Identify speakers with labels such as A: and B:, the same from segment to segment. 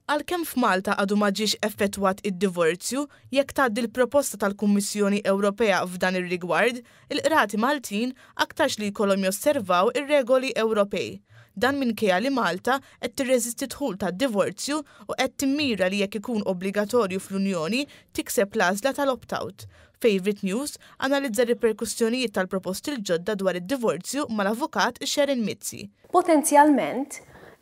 A: Għalkemm f'Malta għadu ma ġiex effettwat id-divorzju, jekk tgħaddi l-proposta tal-Kummissjoni Ewropea f'dan ir-rigward, il-qrati Maltin aktarx li jkollhom josservaw ir-regoli Ewropej. Dan minkejja li Malta qed tirreżisti d-dħul tad-divorzju u qed timmira li jekk ikun obbligatorju fl-Unjoni tikseb l-għażla tal-opt-out. Favourite News analizza r-riperkussjonijiet tal-proposti l-ġodda dwar id-divorzju mal-Avukat Sharon Mizzi.
B: Potenzjalment,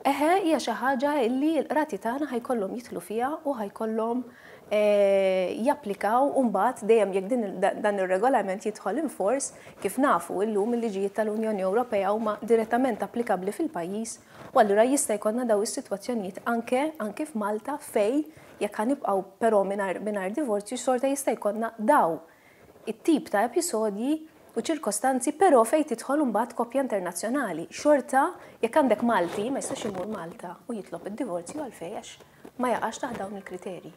B: eħe, hija xi ħaġa li l-qrati tagħna ħa jkollhom jidħlu fiha u ħa jkollhom japplikaw mbagħad dejjem jekk din dan ir-regolament jidħol in force. Kif nafu illum, il-liġijiet tal-Unjoni Ewropea huma direttament applikabbli fil-pajjiż u allura jista' jkollna daw is-sitwazzjonijiet anke f'Malta fej jekk ħa nibqgħu però mingħajr divorzju, xorta jista' jkollna daw it-tip ta' episodji u ċirkostanzi, però fej tidħol imbagħad koppja internazzjonali. Xorta jekk għandek Malti ma jistax imur Malta u jitlob id-divorzju. Għalfejn? Għax ma jaqax taħt dawn il-kriterji.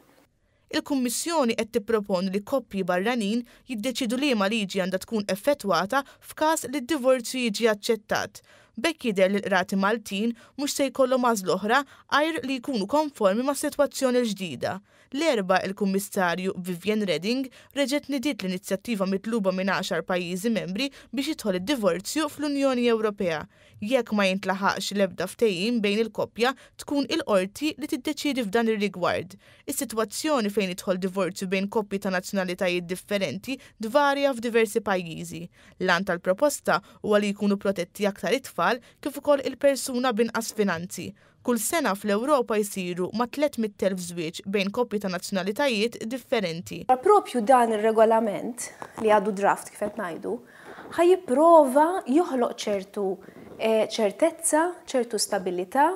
A: Il-Kummissjoni qed tipproponi li koppji barranin jiddeċidu liema liġi għandha tkun effettwata f'każ li d-divorzju jiġi aċċettat. B'hekk jidher li l-qrati Maltin mhux se jkollhom għażla oħra għajr li jkunu konformi mas-sitwazzjoni l-ġdida. L-Erbgħa, il-Kummissarju Viviane Reding reġgħet nidiet l-inizjattiva mitluba minn 10 pajjiżi membri biex jidħol id-divorzju fl-Unjoni Ewropea. Jekk ma jintlaħaqx l-ebda ftehim bejn il-koppja, tkun il-qorti li tiddeċiedi f'dan ir-rigward. Is-sitwazzjoni fejn jidħol divorzju bejn koppji ta' nazzjonalitajiet differenti tvarja f'diversi pajjiżi. L-għan tal-proposta huwa li jkunu protetti aktar it-tfal kif ukoll il-persuna b'inqas finanzi. Kull sena fl-Ewropa jsiru ma' 300,000 żwieġ bejn koppji ta' nazzjonalitajiet differenti.
B: Propju dan ir-regolament li għadu draft, kif qed ngħidu, ħa jipprova joħloq ċertu ċertezza, ċertu stabilità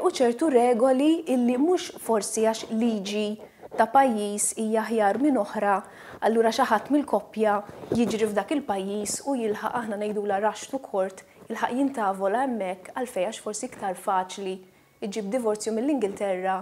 B: u ċertu regoli illi mhux forsi għax liġi ta' pajjiż hija aħjar minn oħra, allura xi ħadd mill-koppja jiġri f'dak il-pajjiż u jilħaq, aħna ngħidula rush to court, jilħaq jintavola hemmhekk. Għalfejn? Għax forsi iktar faċli iġib divorzju mill-Ingilterra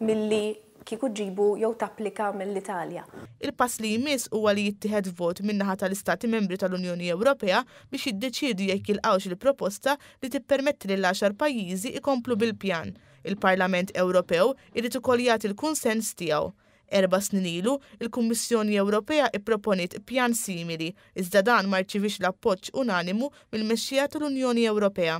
B: milli kieku ġibu jew tapplika mill-Italja.
A: Il-pass li jmiss huwa li jittieħed vot min-naħa tal-Istati Membri tal-Unjoni Ewropea biex jiddeċiedu jekk jilqgħux il-proposta li tippermetti lil 10 pajjiżi ikomplu bil-pjan. Il-Parlament Ewropew irid ukoll jagħti l-kunsens tiegħu. 4 snin ilu, il-Kummissjoni Ewropea ipproponiet pjan simili, iżda dan ma rċivix l-appoġġ unanimu mill-mexxija tal-Unjoni Ewropea.